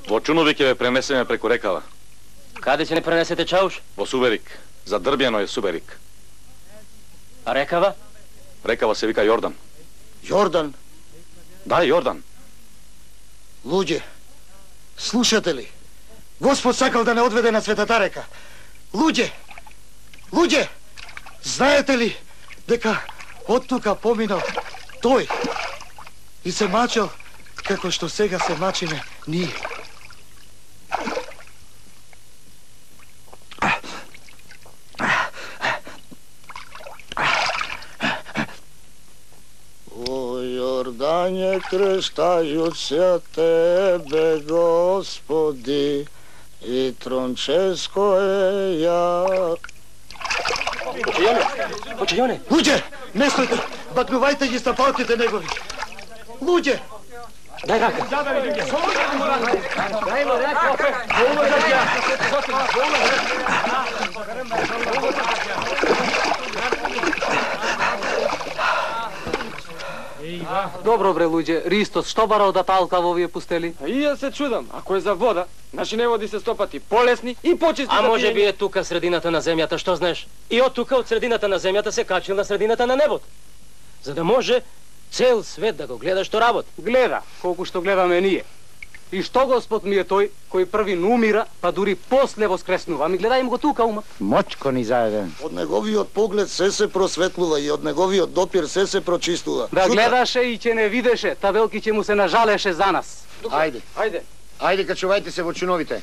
Во Чунови ќе ве пренесеме преку рекава. Каде ќе не пренесете чауш? Во Суберик. Задрбјено е Суберик. А рекава? Рекава се вика Јордан. Јордан? Да, Јордан. Луѓе, слушате ли? Господ сакал да не одведе на светата река. Луѓе, знаете ли дека од тука поминал тој и се мачел како што сега се мачиме ние. О, Јордање, крштајут се тебе, Господи, и Тронческо е ја. Почајоне! Луѓе, не стојте, бакнувајте ги стапалките негови. Луѓе! Дај рака! Добро бре луѓе, Ристос, што бара од аталка во овие пустели? А и ја се чудам, ако е за вода, наши неводи се стопати полесни и почисти. А може би е тука средината на земјата, што знаеш? И од тука, од средината на земјата, се качил на средината на небото. За да може цел свет да го гледа што работи. Гледа, колку што гледаме ние. И што Господ ми е тој, кој први не умира, па дури после воскреснува. Ми гледајм го тука умат. Мочко ни заеден. Од неговиот поглед се просветлува и од неговиот допир се прочистува. Да гледаше и ќе не видеше, та велки ќе му се нажалеше за нас. Ајде, качувајте се во чуновите.